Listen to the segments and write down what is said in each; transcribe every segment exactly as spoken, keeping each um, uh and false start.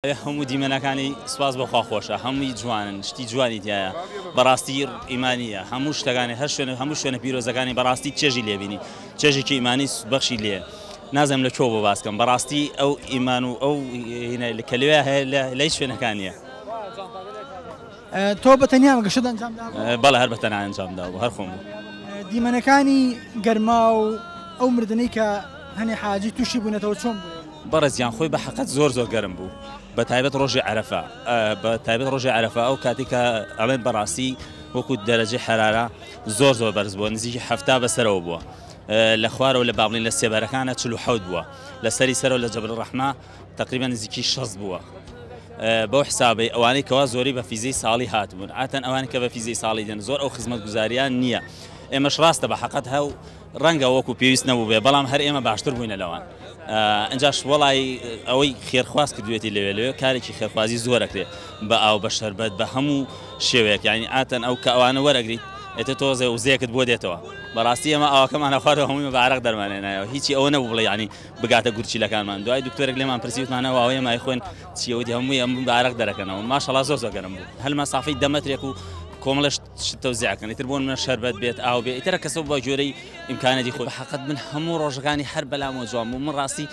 هەموو دیمەنەکانی سواز بەخوا خۆشە، هەمووی جوانن، شتی جوانی تایە، بەڕاستی ئیمانیە، هەموو شتەکانی هەر شوێنە، هەموو شوێنە پیرۆزەکانی بەڕاستی چێژی لێبینی، چێژێکی ئیمانی بەخشی لێ. نازم لە کوێ بۆ باسکەم، بەڕاستی ئەو ئیمان و ئەو کە لەوێ هەیە لە هیچ شوێنەکانیە. تۆ بە تەنیا گەشتت ئەنجام دابوو؟ بەڵێ هەر بە تەنها ئەنجام دابوو، هەر خۆم بوو. دیمەنەکانی گەرما و ئەو مردنەی کە هەنێ حاجی تووشی بوونەتەوە چۆن بوو؟ بەڕێزیان خۆی بە حەقەت زۆر زۆر گەرم بوو، بە تایبەت ڕۆژی عەرەفە، بە تایبەت ڕۆژی عەرەفە ئەو کاتێک کە ئەڵێن بەڕاستی وەکو دەرەجەی حەرارە زۆر زۆر بەرز بووە، نزیکی حەفتا بەسەرەوە بووە، لە خوارەوە لە بابلین لە سێبەرەکانە چل و حەوت بووە، لە سەری سەرەوە لە جەبل ڕەحمە تقریبا نزیکی شەست بووە. بەو حسابەی ئەوانەی کەوا زۆری بە فیزەی ساڵی هاتبوون، عادەتەن ئەوانەی کە بە فیزەی ساڵی دێن زۆر ئەو خزمەتگوزاریان نییە. ئێمەش ڕاستە بە حەقەت هەو ڕەنگە وەکو پێویست نەبوو بێ، بەڵام هەر ئێمە باشتر بووینە لەوان. ئەنجاش وەڵای ئەوەی خێرخواز کردوێتی لەوێ لەوێ کارێکی خێرخوازی زۆرەکرێ بە ئاو بە شەربەت بە هەموو شێوەیەک، یعنی عادەتەن ئەو کە ئەوانە وەرەگریت ئێتە تۆزێ وزەیەکت بۆ دێتەوە. بەڕاستی ئێمە ئاوەکەمان خوارەوە هەمووی بە عەرەق دەرمانێنایەوە، هیچی ئەوە نەبوو بڵێ یعنی بگاتە گورچیلەکانمان. دوای دکتۆرێک لێمان پرسی وتمانەوە ئەوەیە مای خوێن چیەوە هەمووی ئەم بە عەرەق دەرەکەنەوە. ماشەڵا زۆر زۆر گەرم بوو، هەر مەسافەی دە مەترێک و کۆمەڵش تەوزیعەکەن، ئیتر بۆ منە شەربەت بێت ئاو بێت، ئیترە کەسەوە بە گوێرەی ئیمکانەتی خۆی. حەقەت من هەموو ڕۆژەکانی هەر بەلامەوە جوان بوو. من ڕاستی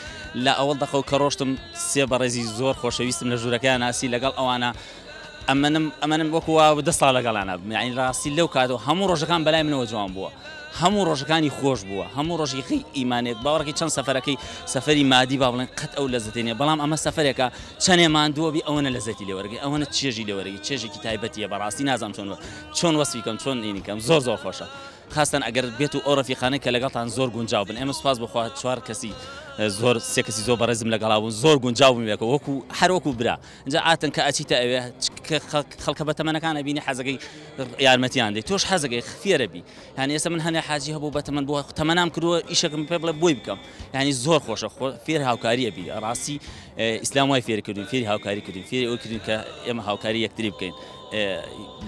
لە ئەوەڵ دەقەوە کە ڕۆشتم سێ بەڕێزی زۆر خۆشەویستم لە ژوورەکەیان ناسی، لەگەڵ ئەوانە ئەمەنم ئەمەنم وەکو وا دە ساڵ لەگەڵیانە بم، یعنی ڕاستی لەو کاتەوە هەموو ڕۆژەکان بەلای منەوە جوان بووە، هەموو ڕۆژەکانی خۆش بووە، هەموو ڕۆژێکی ئیمانێک باوەڕێکی چەند سەفەرەکەی سەفەری مادی با بڵێن قەت ئەو لەزەتی نییە، بەڵام ئەمە سەفەرێکە چەندێ ماندووە بی ئەوەنە لەزەتی لێوەرگی، ئەوەنە چێژی لێوەرگی، چێژێکی تایبەتیە. بەڕاستی نازانم چۆن چۆن وەسفی کەم چۆن ئینی کەم، زۆر زۆر خۆشە. خاستن ئەگەر بێت و ئەو ڕەفیقانەی کە لەگەڵتان زۆر گونجاو بن، ئێمە سوپاس بخوا چوار کەسی زۆر سێ کەسی زۆر بەڕێزم لەگەڵا بوون، زۆر گونجاو بووم یەکەوە وەکو هەر وەکو برا. اینجا عادەتەن کە ئەچیتە ئەوێ خەڵکە بەتەمەنەکان ئەبینی حەزەکەی یارمەتیان دەی، تۆش حەزەکەی فێرە بی. یعنی ئێستا من هەنێ حاجی هەبوو بەتەمەن بووە، تەمەنام کردووە ئیشەکەم پێ بڵێ بۆی بکەم، یعنی زۆر خۆشە، فێر هاوکاریە بی. ڕاستی ئیسلام وای فێر کردوین، فێری هاوکاری کردوین، فێری ئەوە کردوین کە ئێمە هاوکاری یەکتری بکەین.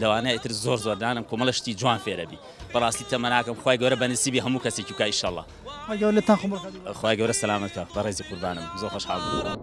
لەوانەیە ئیتر زۆر زۆر دانم کۆمەڵە شتی جوان فێرە بی. بەڕاستی تەمەناکەم خوای گەورە بە نسیبی هەموو کەسێکی بکا ئیشەڵڵا. خوای گەورە لێتان قبوڵ کات. خوای گەورە سەلامەت کە، بەڕێزی قوربانم، زۆر خۆشحاڵ بووم.